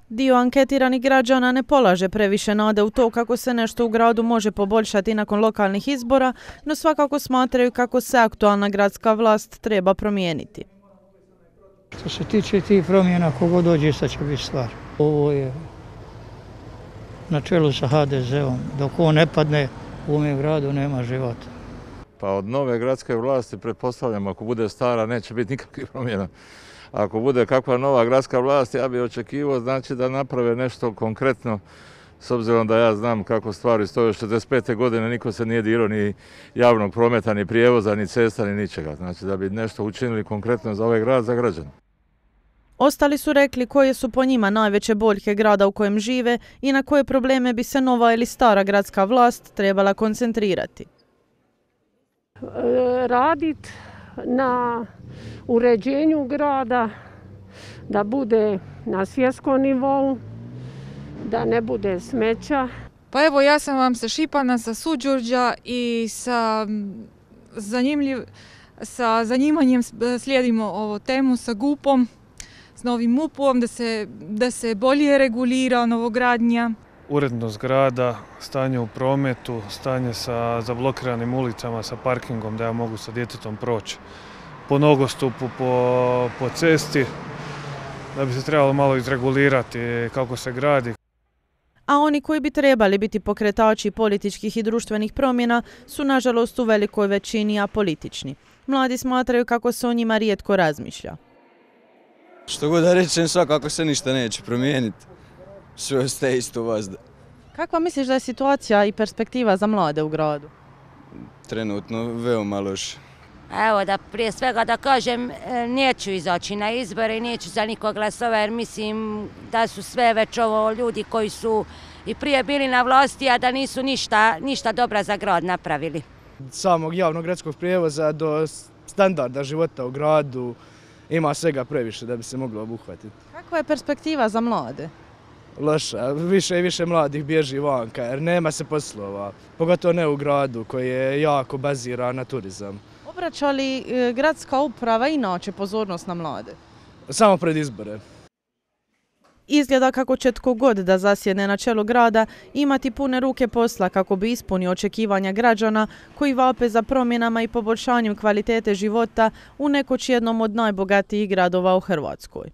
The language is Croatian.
Dio anketiranih građana ne polaže previše nade u to kako se nešto u gradu može poboljšati nakon lokalnih izbora, no svakako smatraju kako se aktualna gradska vlast treba promijeniti. Što se tiče tih promjena, kogo dođe, sad će biti stvar. Ovo je na čelu sa HDZ-om. Dok on ne padne, u ovom gradu nema života. Pa od nove gradske vlasti, pretpostavljam, ako bude stara, neće biti nikakvih promjena. Ako bude kakva nova gradska vlast, ja bih očekivao znači da naprave nešto konkretno, s obzirom da ja znam kako stvari stoje. Od 65. godine niko se nije dirao ni javnog prometa, ni prijevoza, ni cesta, ni ničega. Znači da bi nešto učinili konkretno za ovaj grad, za građane. Ostali su rekli koje su po njima najveće boljke grada u kojem žive i na koje probleme bi se nova ili stara gradska vlast trebala koncentrirati. Raditi na uređenju grada, da bude na svjetskom nivou, da ne bude smeća. Pa evo, ja sam vam sa Šipana, sa Suđurđa i sa zanimanjem slijedimo ovu temu sa GUP-om, s novim MUP-om, da se bolje regulira novogradnja. Urednost grada, stanje u prometu, stanje sa zablokiranim ulicama, sa parkingom da ja mogu sa djetetom proći po nogostupu, po cesti, da bi se trebalo malo izregulirati kako se gradi. A oni koji bi trebali biti pokretači političkih i društvenih promjena su nažalost u velikoj većini apolitični. Mladi smatraju kako se o njima rijetko razmišlja. Što god da rečem, svakako se ništa neće promijeniti. Sve ostaje isto vazda. Kakva misliš da je situacija i perspektiva za mlade u gradu? Trenutno veoma loše. Evo da prije svega da kažem, neću izaći na izbore i neću za nikog glasova jer mislim da su sve već ovo ljudi koji su i prije bili na vlasti, a da nisu ništa dobra za grad napravili. Samog javnog gradskog prijevoza do standarda života u gradu ima svega previše da bi se moglo obuhvatiti. Kakva je perspektiva za mlade? Loša, više i više mladih bježi vanka jer nema se poslova, pogotovo ne u gradu koji je jako baziran na turizam. Obraća li gradska uprava inače pozornost na mlade? Samo pred izbore. Izgleda kako će tko god da zasjedne na čelu grada imati pune ruke posla kako bi ispunio očekivanja građana koji vape za promjenama i poboljšanjem kvalitete života u nekoć jednom od najbogatijih gradova u Hrvatskoj.